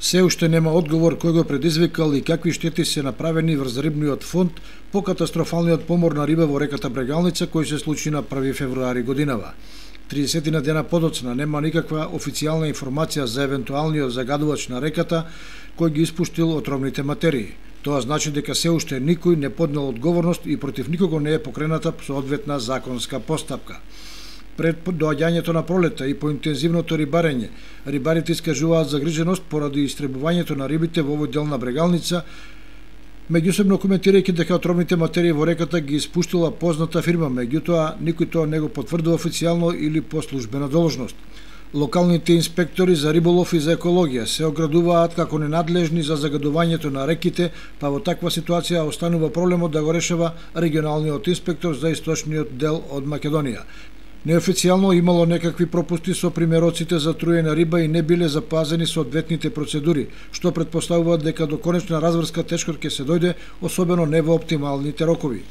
Се уште нема одговор кој го предизвикал и какви штети се направени врз рибниот фонд по катастрофалниот помор на риба во реката Брегалница кој се случи на 1 февруари годинава. 30 дена подоцна нема никаква официјална информација за евентуалниот загадувач на реката кој ги испуштил отровните материи. Тоа значи дека се уште никој не поднел одговорност и против никого не е покрената соодветна законска постапка. Пред доаѓањето на пролета и по интензивното рибарење, рибарите искажуваат загриженост поради истребувањето на рибите во овој дел на Брегалница, меѓусебно коментирајќи дека отровните материи во реката ги испуштила позната фирма, меѓутоа никој тоа не го потврдува официјално или по службена должност. Локалните инспектори за риболов и за екологија се оградуваат како ненадлежни за загадувањето на реките, па во таква ситуација останува проблемот да го решава регионалниот инспектор за источниот дел од Македонија. Неофицијално имало некакви пропусти со примероците за труење риба и не биле запазени соодветните процедури, што претпоставува дека до конечна разврска тешко ќе се дојде, особено не во оптималните рокови.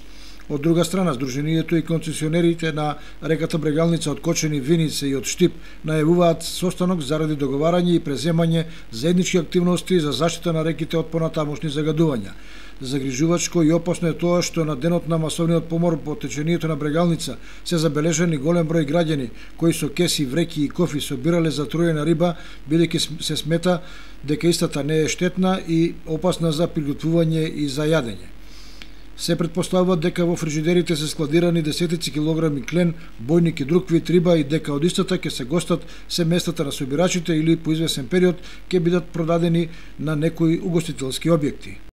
Од друга страна, Сдруженијето и концесионерите на реката Брегалница од Кочени, Виница и од Штип најавуваат состанок заради договарање и преземање заеднички активности за заштита на реките од понатамошни загадувања. Загрижувачко и опасно е тоа што на денот на масовниот помор по течението на Брегалница се забележани голем број граѓани кои со кеси, вреќи и кофи собирале за труена риба, бидејќи се смета дека истата не е штетна и опасна за приготвување и за јадење. Се претпоставува дека во фрижидерите се складирани десетици килограми клен, бојник и друг вид риба и дека од истата ќе се гостат се местата на собирачите или по извесен период ќе бидат продадени на некои угостителски објекти.